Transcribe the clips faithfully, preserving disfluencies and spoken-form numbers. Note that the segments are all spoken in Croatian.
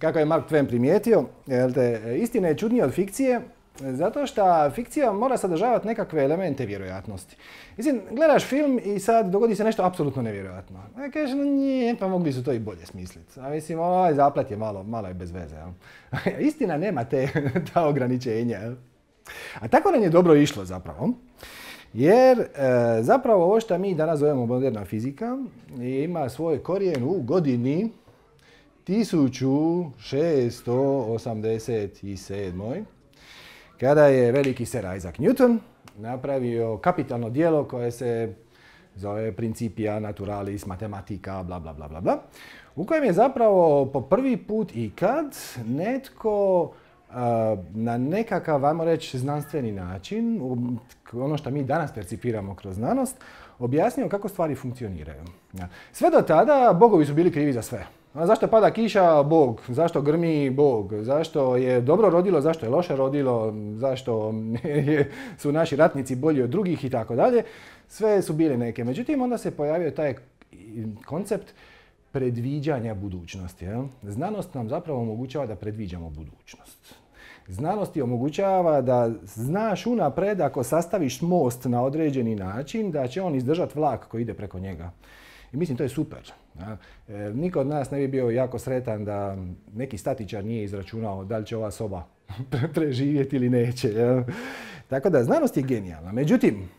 kako je Mark Twain primijetio, istina je čudnija od fikcije, zato što fikcija mora sadržavati nekakve elemente vjerojatnosti. Mislim, gledaš film i sad dogodi se nešto apsolutno nevjerojatno. A kažeš, no nije, pa mogli su to i bolje smisliti. A mislim, ovaj zaplet je malo, malo je bez veze. Jel? Istina nema te, ta ograničenja. Jel? A tako nam je dobro išlo zapravo. Jer e, zapravo ovo što mi danas zovemo moderna fizika ima svoj korijen u godini tisuću šesto osamdeset sedam. Kada je veliki Sir Isaac Newton napravio kapitalno djelo koje se zove Principia Naturalis Mathematica, bla bla bla bla bla, u kojem je zapravo po prvi put ikad netko uh, na nekakav, ajmo reći, znanstveni način, ono što mi danas percipiramo kroz znanost, objasnio kako stvari funkcioniraju. Sve do tada bogovi su bili krivi za sve. A zašto pada kiša? Bog. Zašto grmi? Bog. Zašto je dobro rodilo? Zašto je loše rodilo? Zašto su naši ratnici bolji od drugih i tako dalje? Sve su bile neke. Međutim, onda se pojavio taj koncept predviđanja budućnosti. Jel? Znanost nam zapravo omogućava da predviđamo budućnost. Znanost ti omogućava da znaš unapred ako sastaviš most na određeni način da će on izdržati vlak koji ide preko njega. I mislim, to je super. E, niko od nas ne bi bio jako sretan da neki statičar nije izračunao da li će ova soba preživjeti ili neće. Ja. Tako da, znanost je genijalna. Međutim,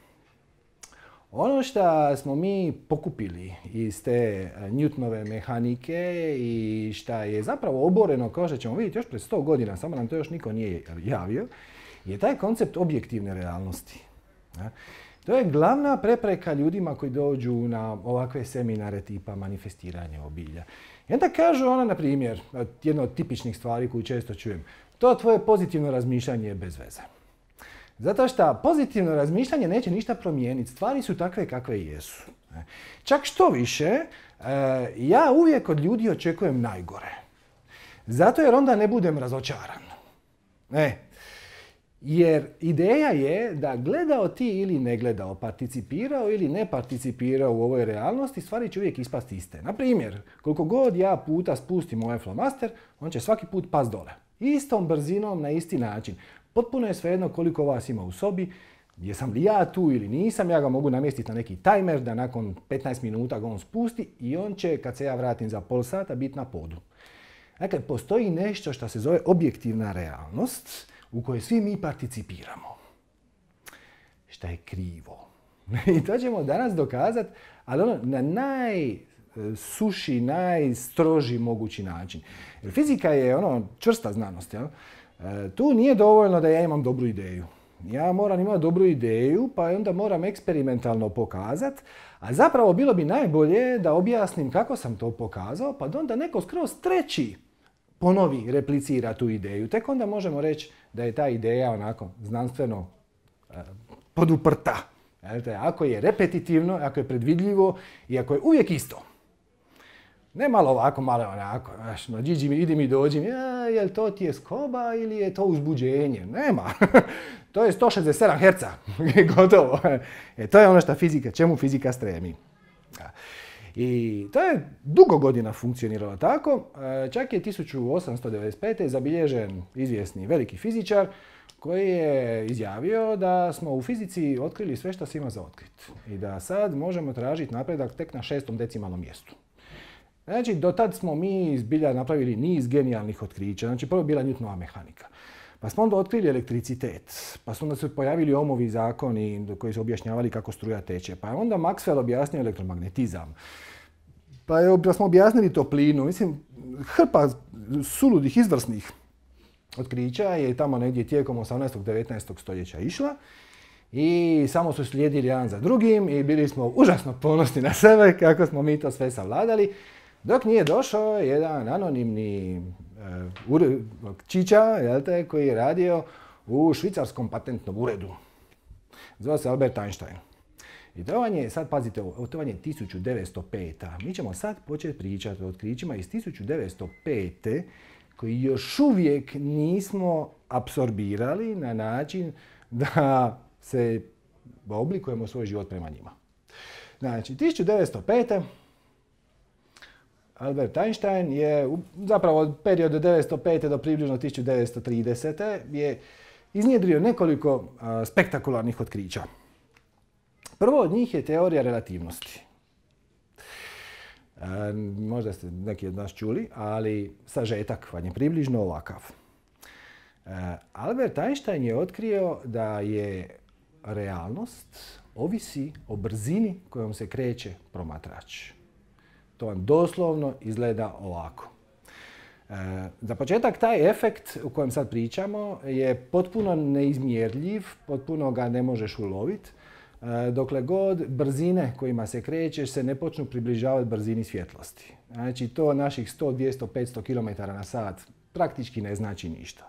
ono što smo mi pokupili iz te Newtonove mehanike i što je zapravo oboreno, kao što ćemo vidjeti još pred sto godina, samo nam to još niko nije javio, je taj koncept objektivne realnosti. Ja. To je glavna prepreka ljudima koji dođu na ovakve seminare tipa manifestiranje obilja. I onda kažu ona, na primjer, jedna od tipičnih stvari koju često čujem, to tvoje pozitivno razmišljanje je bez veze. Zato što pozitivno razmišljanje neće ništa promijeniti. Stvari su takve kakve jesu. Čak što više, ja uvijek od ljudi očekujem najgore. Zato jer onda ne budem razočaran. E, Jer ideja je da gledao ti ili ne gledao, participirao ili ne participirao u ovoj realnosti, stvari će uvijek ispasti iste. Na primjer, koliko god ja puta spustim ovaj flomaster, on će svaki put pas dole. Istom brzinom, na isti način. Potpuno je svejedno koliko vas ima u sobi, jesam li ja tu ili nisam, ja ga mogu namjestiti na neki tajmer da nakon petnaest minuta ga on spusti i on će, kad se ja vratim za pol sata, biti na podu. Dakle, postoji nešto što se zove objektivna realnost, u kojoj svi mi participiramo. Šta je krivo. I to ćemo danas dokazati, ali ono, na najsuši, najstroži mogući način. Jer fizika je ono čvrsta znanost. Jel? E, tu nije dovoljno da ja imam dobru ideju. Ja moram imati dobru ideju, pa onda moram eksperimentalno pokazati, a zapravo bilo bi najbolje da objasnim kako sam to pokazao, pa da onda neko skroz treći ponovi, replicira tu ideju. Tek onda možemo reći da je ta ideja onako znanstveno e, poduprta. Znači, ako je repetitivno, ako je predvidljivo i ako je uvijek isto. Ne malo ovako, malo onako. Znaš, no, Gigi, idi mi dođi, ja, jel to ti je skoba ili je to uzbuđenje? Nema. To je sto šezdeset sedam herca. Gotovo. E, to je ono što fizika, čemu fizika stremi. I to je dugo godina funkcioniralo tako. Čak je tisuću osamsto devedeset pete. zabilježen izvjesni veliki fizičar koji je izjavio da smo u fizici otkrili sve što se ima za otkriti. I da sad možemo tražiti napredak tek na šestom decimalnom mjestu. Znači, do tad smo mi zbilja napravili niz genijalnih otkrića. Znači, prvo je bila Newtonova mehanika. Pa smo onda otkrili elektricitet, pa su onda se pojavili Ohmovi zakoni koji su objašnjavali kako struja teče. Pa je onda Maxwell objasnio elektromagnetizam. Pa je, pa smo objasnili toplinu. Mislim, hrpa suludih, izvrsnih otkrića je tamo negdje tijekom osamnaestog devetnaestog stoljeća išla. I samo su slijedili jedan za drugim i bili smo užasno ponosni na sebe kako smo mi to sve savladali. Dok nije došao jedan anonimni uh, čiča, jel te, koji je radio u švicarskom patentnom uredu. Zvao se Albert Einstein. I to vam je, sad pazite ovo, to vam je tisuću devetsto peta. Mi ćemo sad početi pričati o otkrićima iz tisuću devetsto pete koji još uvijek nismo apsorbirali na način da se oblikujemo svoj život prema njima. Znači, tisuću devetsto pete. Uh, Albert Einstein je zapravo od perioda devetsto pete do približno tisuću devetsto tridesete je iznjedrio nekoliko a, spektakularnih otkrića. Prvo od njih je teorija relativnosti. A, možda ste neki od nas čuli, ali sažetak vam je približno ovakav. A, Albert Einstein je otkrio da je realnost ovisi o brzini kojom se kreće promatrač. To vam doslovno izgleda ovako. E, za početak, taj efekt u kojem sad pričamo je potpuno neizmjerljiv, potpuno ga ne možeš uloviti, e, dokle god brzine kojima se krećeš se ne počnu približavati brzini svjetlosti. Znači, to naših sto, dvjesto, petsto kilometara na sat praktički ne znači ništa.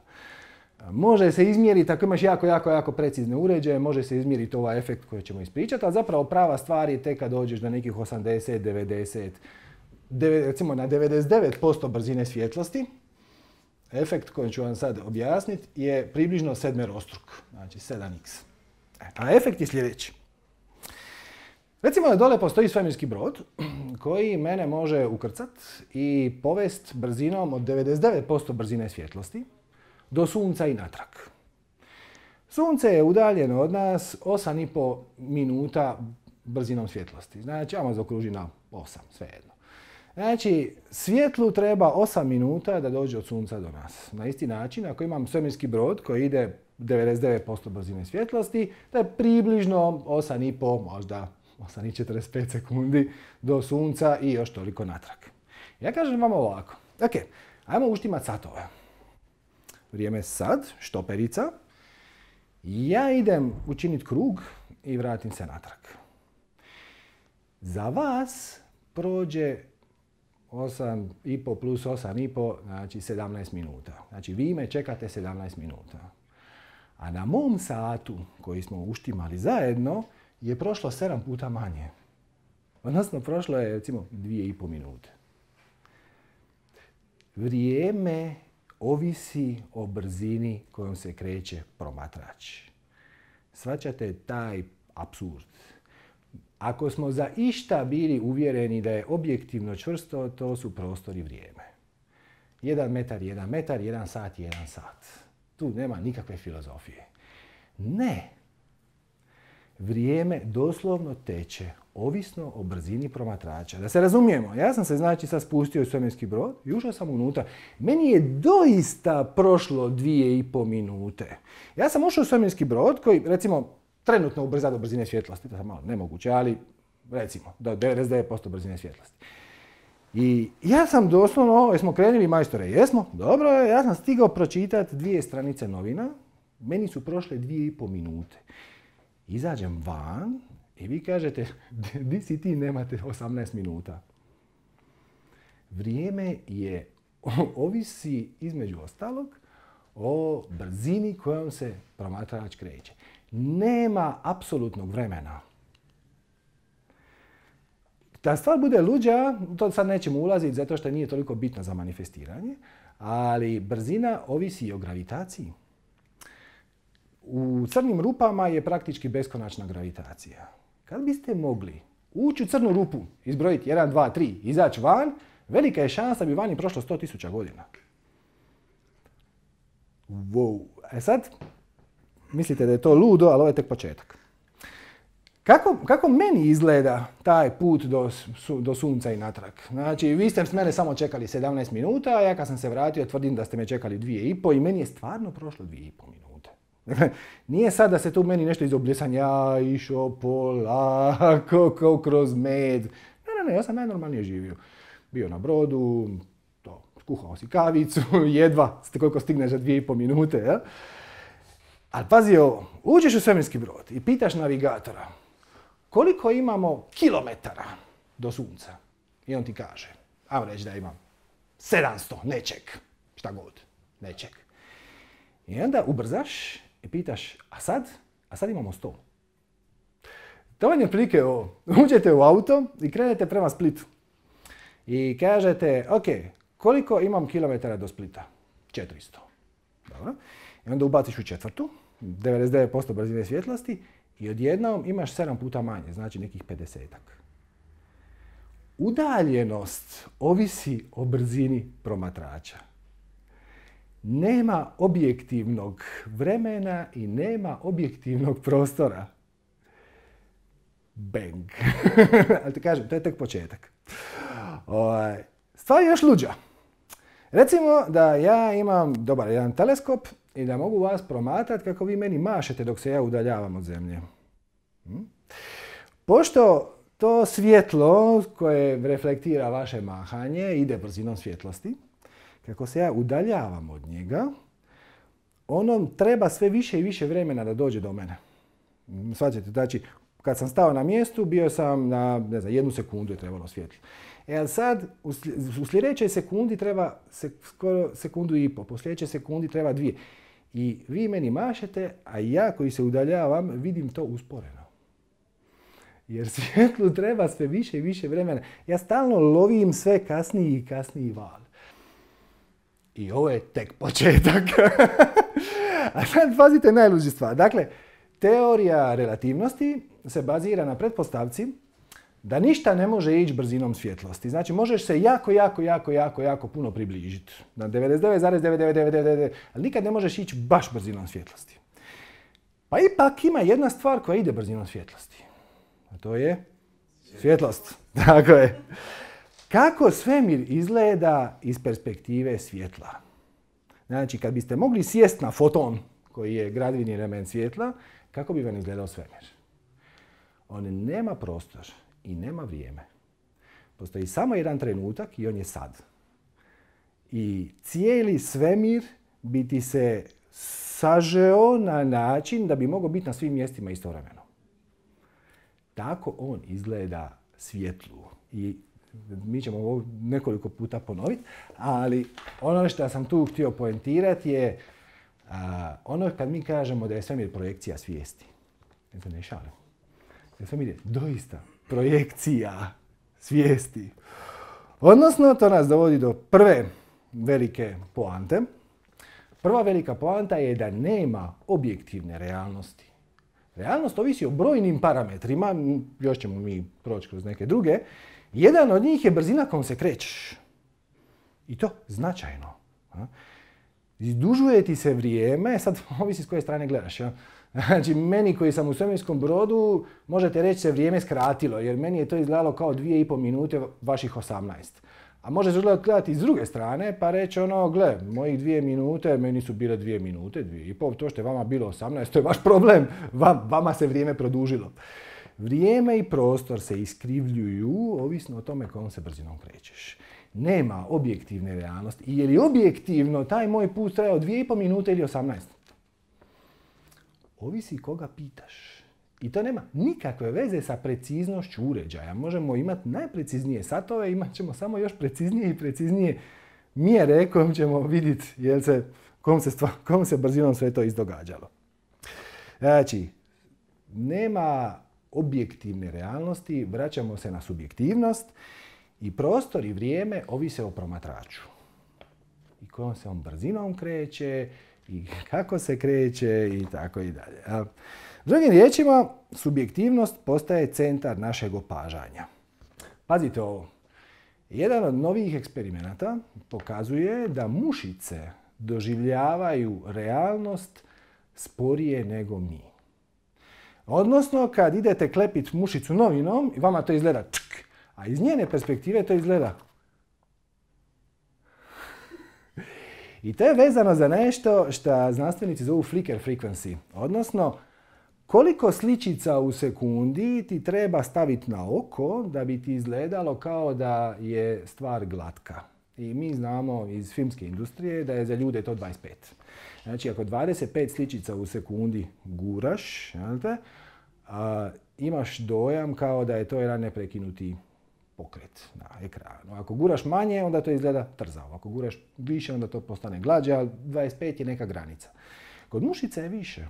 Može se izmjeriti, ako imaš jako, jako, jako precizne uređaje, može se izmjeriti ovaj efekt koji ćemo ispričati, ali zapravo prava stvar je tek kad dođeš do nekih osamdeset, devedeset, recimo na devedeset devet posto brzine svjetlosti. Efekt koji ću vam sad objasniti je približno sedmerostruk, znači sedam iks. A efekt je sljedeći. Recimo da dole postoji svemirski brod koji mene može ukrcat i povest brzinom od devedeset devet posto brzine svjetlosti do Sunca i natrag. Sunce je udaljeno od nas osam i pol minuta brzinom svjetlosti. Znači, ajmo zaokružiti na osam, svejedno. Znači, svjetlu treba osam minuta da dođe od Sunca do nas. Na isti način, ako imam svemirski brod koji ide devedeset devet posto brzine svjetlosti, to je približno osam i pol, možda osam i četrdeset pet sekundi do Sunca i još toliko natrag. Ja kažem vam ovako. Ok, ajmo uštimati satove. Vrijeme sad, štoperica. Ja idem učiniti krug i vratim se natrag. Za vas prođe osam i pol plus osam i pol, znači sedamnaest minuta. Znači vi me čekate sedamnaest minuta. A na mom satu, koji smo uštimali zajedno, je prošlo sedam puta manje. Odnosno, prošlo je recimo dvije i pol minute. Vrijeme ovisi o brzini kojom se kreće promatrač. Shvaćate taj apsurd. Ako smo za išta bili uvjereni da je objektivno čvrsto, to su prostor i vrijeme. Jedan metar, jedan metar, jedan sat, jedan sat. Tu nema nikakve filozofije. Ne. Vrijeme doslovno teče, ovisno o brzini promatrača. Da se razumijemo, ja sam se znači sad spustio u svemirski brod i ušao sam unutra. Meni je doista prošlo dvije i pol minute. Ja sam ušao u svemirski brod koji, recimo, trenutno ubrza do brzine svjetlosti, to je malo nemoguće, ali recimo do devedeset devet posto brzine svjetlosti. I ja sam doslovno, jesmo krenuli majstore, jesmo, dobro je, ja sam stigao pročitati dvije stranice novina, meni su prošle dvije i pol minute. Izađem van i vi kažete, di si ti, nemate osamnaest minuta. Vrijeme je, ovisi između ostalog o brzini kojom se promatrač kreće. Nema apsolutnog vremena. Da stvar bude luđa, to sad nećemo ulaziti zato što nije toliko bitno za manifestiranje, ali brzina ovisi o gravitaciji. U crnim rupama je praktički beskonačna gravitacija. Kad biste mogli ući u crnu rupu, izbrojiti jedan, dva, tri, izaći van, velika je šansa da bi vani prošlo sto tisuća godina. Wow. E sad, mislite da je to ludo, ali ovo je tek početak. Kako, kako meni izgleda taj put do, su, do Sunca i natrag? Znači, vi ste s mene samo čekali sedamnaest minuta, a ja kad sam se vratio tvrdim da ste me čekali dvije i pol i meni je stvarno prošlo dvije i pol minute. Nije sad da se tu meni nešto izobljesan, ja išao polako, kao kroz med. Ne, ne, ne, ja sam najnormalnije živio. Bio na brodu, to, skuhao si kavicu, jedva ste koliko stigneš za dvije i pol minute. Ja? Ali pazi ovo, uđeš u svemirski brod i pitaš navigatora koliko imamo kilometara do Sunca. I on ti kaže, ajmo reći da imam sedamsto, nečeg, šta god, nečeg. I onda ubrzaš i pitaš, a sad? A sad imamo sto. To vam je otprilike ovo. Uđete u auto i krenete prema Splitu. I kažete, ok, koliko imam kilometara do Splita? četiristo. Dobro. I onda ubaciš u četvrtu, devedeset devet posto brzine svjetlosti i odjednom imaš sedam puta manje, znači nekih pedesetak. Udaljenost ovisi o brzini promatrača. Nema objektivnog vremena i nema objektivnog prostora. Bang. Ali ti kažem, to je tek početak. Stvar je još luđa. Recimo da ja imam dobar jedan teleskop i da mogu vas promatrati kako vi meni mašete dok se ja udaljavam od zemlje. Hm? Pošto to svjetlo koje reflektira vaše mahanje ide brzinom svjetlosti, kako se ja udaljavam od njega, onom treba sve više i više vremena da dođe do mene. Shvaćate, znači, kad sam stao na mjestu, bio sam na, ne znam, jednu sekundu je trebalo svjetlo. E, ali sad, u sljedećoj sekundi treba se, skoro sekundu i pol, po sljedećoj sekundi treba dvije. I vi meni mašete, a ja koji se udaljavam vidim to usporeno. Jer svjetlu treba sve više i više vremena. Ja stalno lovim sve kasniji i kasniji val. I ovo je tek početak. A sad pazite najluđu stvar. Dakle, teorija relativnosti se bazira na pretpostavci da ništa ne može ići brzinom svjetlosti. Znači, možeš se jako, jako, jako, jako, jako puno približiti. Na devedeset devet zarez devet devet devet devet devet, ali nikad ne možeš ići baš brzinom svjetlosti. Pa ipak ima jedna stvar koja ide brzinom svjetlosti. A to je svjetlost. Tako je. Kako svemir izgleda iz perspektive svjetla? Znači, kad biste mogli sjesti na foton, koji je gradivni element svjetla, kako bi vam izgledao svemir? On nema prostor i nema vrijeme. Postoji samo jedan trenutak i on je sad. I cijeli svemir bi ti se sažeo na način da bi mogao biti na svim mjestima istovremeno. Tako on izgleda svjetlu. I mi ćemo ovo nekoliko puta ponoviti, ali ono što sam tu htio poentirati je a, ono kad mi kažemo da je svemir projekcija svijesti. Ne se ne šalim. Svemir je doista projekcija svijesti. Odnosno, to nas dovodi do prve velike poante. Prva velika poanta je da nema objektivne realnosti. Realnost ovisi o brojnim parametrima, još ćemo mi proći kroz neke druge. Jedan od njih je brzina kojom se krećeš. I to značajno. Izdužuje ti se vrijeme, sad ovisi s koje strane gledaš. Ja? Znači, meni koji sam u svemirskom brodu, možete reći se vrijeme skratilo, jer meni je to izgledalo kao dvije i pol minute vaših osamnaest. A možete gledati iz druge strane, pa reći ono, gle, mojih dvije minute, meni su bile dvije minute, dvije i pol, to što je vama bilo osamnaest, to je vaš problem, vama se vrijeme produžilo. Vrijeme i prostor se iskrivljuju, ovisno o tome kojom se brzinom krećeš. Nema objektivne realnosti. I je li objektivno taj moj put trajao dvije i pol minute ili osamnaest? Ovisi koga pitaš. I to nema nikakve veze sa preciznošću uređaja. Možemo imati najpreciznije satove, imat ćemo samo još preciznije i preciznije mjere kojom ćemo vidjeti jel se, kom, se stvar, kom se brzinom sve to izdogađalo. Znači, nema objektivne realnosti, vraćamo se na subjektivnost i prostor i vrijeme ovise o promatraču. I kojom se on brzinom kreće i kako se kreće i tako i dalje. Drugim riječima, subjektivnost postaje centar našeg opažanja. Pazite ovo. Jedan od novih eksperimenata pokazuje da mušice doživljavaju realnost sporije nego mi. Odnosno, kad idete klepiti mušicu novinom, vama to izgleda čk, a iz njene perspektive to izgleda. I to je vezano za nešto što znanstvenici zovu flicker frequency. Odnosno, koliko sličica u sekundi ti treba staviti na oko da bi ti izgledalo kao da je stvar glatka. I mi znamo iz filmske industrije da je za ljude to dvadeset pet. Znači, ako dvadeset pet sličica u sekundi guraš, te, a, imaš dojam kao da je to jedan neprekinuti pokret na ekranu. Ako guraš manje, onda to izgleda trzavo. Ako guraš više, onda to postane glađe, ali dvadeset pet je neka granica. Kod mušice je više.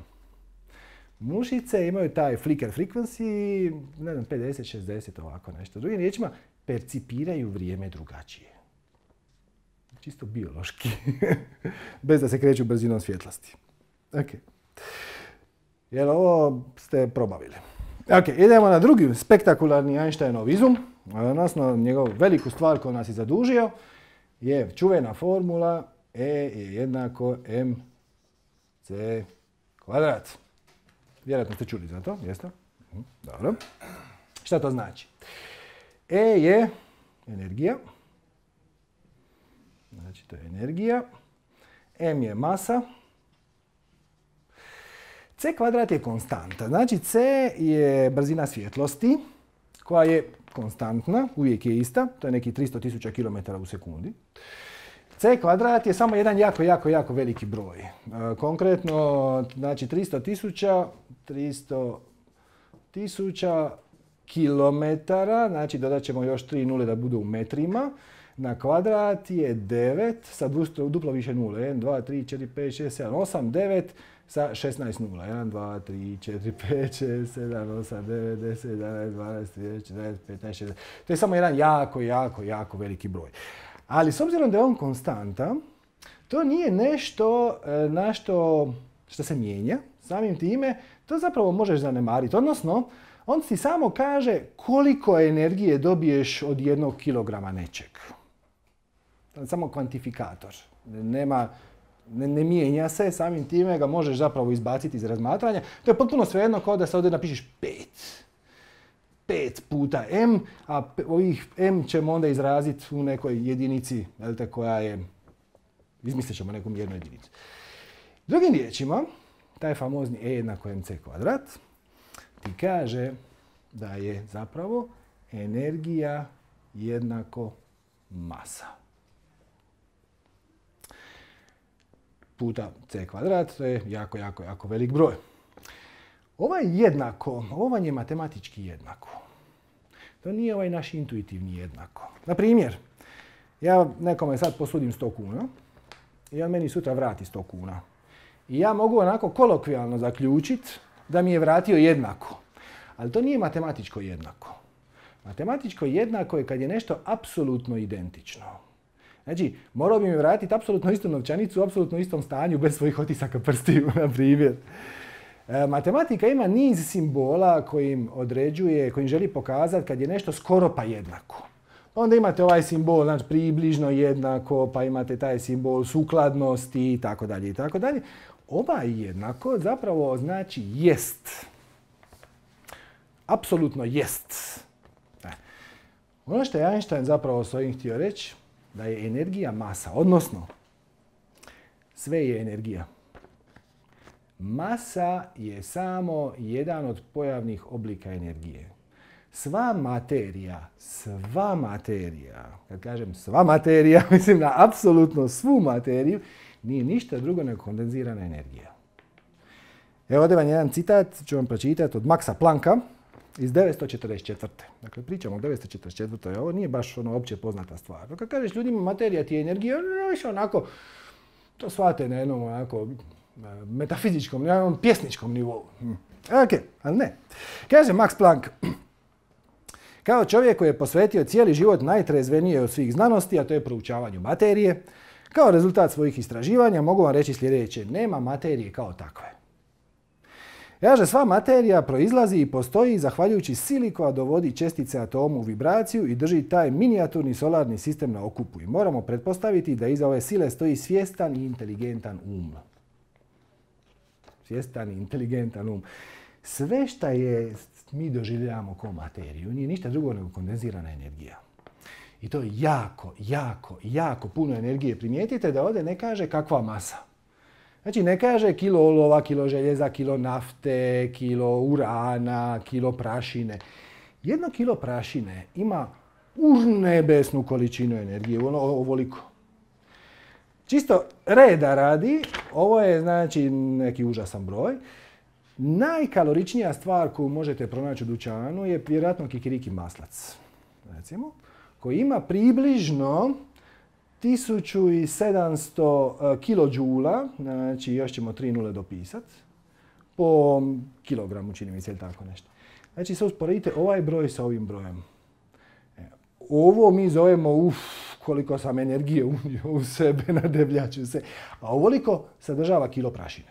Mušice imaju taj flicker frequency, ne znam, pedeset šezdeset ovako nešto. Drugim riječima, percipiraju vrijeme drugačije. Čisto biološki. Bez da se kreću brzinom svjetlosti. Ok. Jel ovo ste probavili? Ok, idemo na drugi spektakularni Einsteinov izum. odnosno njegovu veliku stvar koju nas je zadužio, je čuvena formula E je jednako mc kvadrat. Vjerojatno ste čuli za to, jeste? Dobro. Šta to znači? E je energija. Znači to je energija. M je masa. C kvadrat je konstanta. Znači C je brzina svjetlosti koja je konstantna, uvijek je ista. To je neki tristo tisuća kilometara u sekundi. C kvadrat je samo jedan jako, jako, jako veliki broj. E, konkretno, znači tristo tisuća, tristo tisuća kilometara, znači dodat ćemo još tri nule da budu u metrima, na kvadrat je devet sa duplo više nule. jedan, dva, tri, četiri, pet, šest, sedam, osam, devet sa šesnaest nula. jedan, dva, tri, četiri, pet, šest, sedam, osam, devet, deset, jedanaest, dvanaest, trinaest, četrnaest, petnaest, šesnaest. To je samo jedan jako, jako, jako veliki broj. Ali s obzirom da je on konstanta, to nije nešto na što, što se mijenja. Samim time, to zapravo možeš zanemariti. Odnosno, on ti samo kaže koliko energije dobiješ od jednog kilograma nečeg. Samo kvantifikator. Nema, ne, ne mijenja se, samim time ga možeš zapravo izbaciti iz razmatranja. To je potpuno svejedno kao da se ovdje napišeš pet. pet puta m, a ovih m ćemo onda izraziti u nekoj jedinici, jelte, koja je, izmislit ćemo neku mjernu jedinicu. Drugim riječima, taj famozni E jednako mc kvadrat ti kaže da je zapravo energija jednako masa. Puta c kvadrat, to je jako, jako, jako velik broj. Ovo je jednako, ovo vam je matematički jednako. To nije ovaj naš intuitivni jednako. Na primjer, ja nekome sad posudim sto kuna i on meni sutra vrati sto kuna. I ja mogu onako kolokvijalno zaključiti da mi je vratio jednako. Ali to nije matematičko jednako. Matematičko jednako je kad je nešto apsolutno identično. Znači, morao bi mi vratiti apsolutno istu novčanicu u apsolutno istom stanju bez svojih otisaka prstiju, na primjer. E, matematika ima niz simbola kojim određuje, kojim želi pokazati kad je nešto skoro pa jednako. Onda imate ovaj simbol, znači približno jednako, pa imate taj simbol sukladnosti i tako dalje i tako dalje. Ovaj jednako zapravo znači jest. Apsolutno jest. E. Ono što je Einstein zapravo s ovim htio reći, da je energija masa, odnosno sve je energija. Masa je samo jedan od pojavnih oblika energije. Sva materija, sva materija, kad kažem sva materija, mislim na apsolutno svu materiju, nije ništa drugo nego kondenzirana energija. Evo ovdje vam jedan citat, ću vam pročitati od Maxa Plancka iz devetsto četrdeset četvrte. Dakle, pričamo o devetsto četrdeset četvrtoj. Ovo nije baš ono opće poznata stvar. Kad kažeš ljudima materija ti je energija, više onako, to shvate na jednom onako metafizičkom, na jednom pjesničkom nivou. Ok, ali ne. Kaže Max Planck, kao čovjek koji je posvetio cijeli život najtrezvenije od svih znanosti, a to je proučavanju materije, kao rezultat svojih istraživanja mogu vam reći sljedeće: nema materije kao takve. Kaže, sva materija proizlazi i postoji zahvaljujući sili koja dovodi čestice atomu u vibraciju i drži taj minijaturni solarni sistem na okupu. I moramo pretpostaviti da iza ove sile stoji svjestan i inteligentan um. Svjestan i inteligentan um. Sve što je mi doživljavamo kao materiju nije ništa drugo nego kondenzirana energija. I to je jako, jako, jako puno energije. Primijetite da ovdje ne kaže kakva masa. Znači ne kaže kilo olova, kilo željeza, kilo nafte, kilo urana, kilo prašine. Jedno kilo prašine ima urnebesnu količinu energije, ono ovoliko. Čisto reda radi, ovo je znači neki užasan broj. Najkaloričnija stvar koju možete pronaći u dućanu je vjerojatno kikiriki maslac, recimo, koji ima približno tisuću sedamsto kilodžula, znači još ćemo tri nule dopisati, po kilogramu, čini mi se, ili tako nešto. Znači se usporedite ovaj broj sa ovim brojem. Ovo mi zovemo, uf, koliko sam energije unio u sebe, nadebljaću se, a ovoliko sadržava kilo prašine.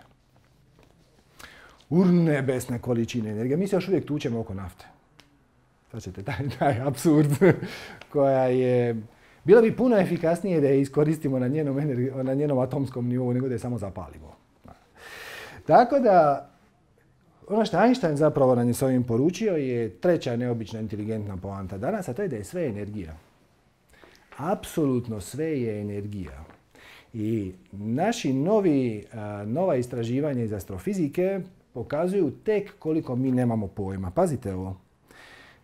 Urnebesne količine energije. Mi se još uvijek tučemo oko nafte. Shvaćate, taj, taj apsurd koja je... Bilo bi puno efikasnije da je iskoristimo na njenom, energi- na njenom atomskom nivou nego da je samo zapalimo. Tako da, ono što Einstein zapravo nam je s ovim poručio je treća neobična inteligentna poanta danas, a to je da je sve energija. Apsolutno sve je energija. I naši novi, a, nova istraživanja iz astrofizike pokazuju tek koliko mi nemamo pojma. Pazite ovo.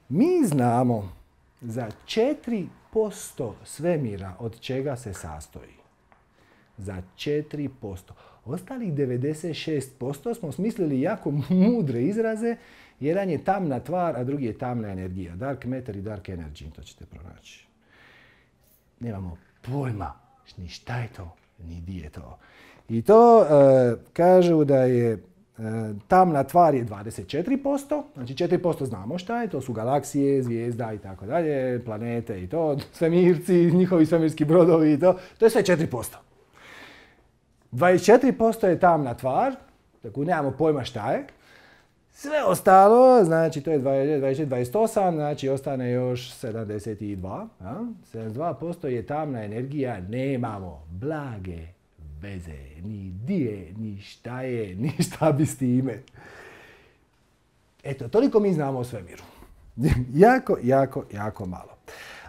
Mi znamo za četiri posto svemira od čega se sastoji. Za četiri posto. Ostalih devedeset šest posto smo smislili jako mudre izraze. Jedan je tamna tvar, a drugi je tamna energija. Dark matter i dark energy, to ćete pronaći. Nemamo pojma ni šta je to, ni di je to. I to uh, kažu da je uh, tamna tvar je dvadeset četiri posto, znači četiri posto znamo šta je, to su galaksije, zvijezda i tako dalje, planete i to, svemirci, njihovi svemirski brodovi i to, to je sve četiri posto. dvadeset četiri posto je tamna tvar, tako nemamo pojma šta je. Sve ostalo, znači to je dvadeset, dvadeset, dvadeset osam, znači ostane još sedamdeset dva. Ja? sedamdeset dva posto je tamna energija, nemamo blage veze, ni di je, ni šta je, ni šta bi s time. Eto, toliko mi znamo o svemiru. jako, jako, jako malo.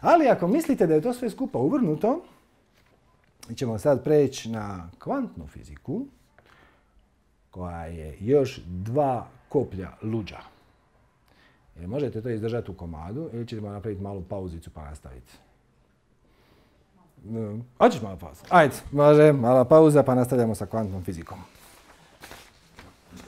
Ali ako mislite da je to sve skupa uvrnuto, mi ćemo sad preći na kvantnu fiziku, koja je još dva koplja luđa. Jer možete to izdržati u komadu ili ćemo napraviti malu pauzicu pa nastaviti. Hoćeš malo pauzu? Ajde, može, mala pauza pa nastavljamo sa kvantnom fizikom.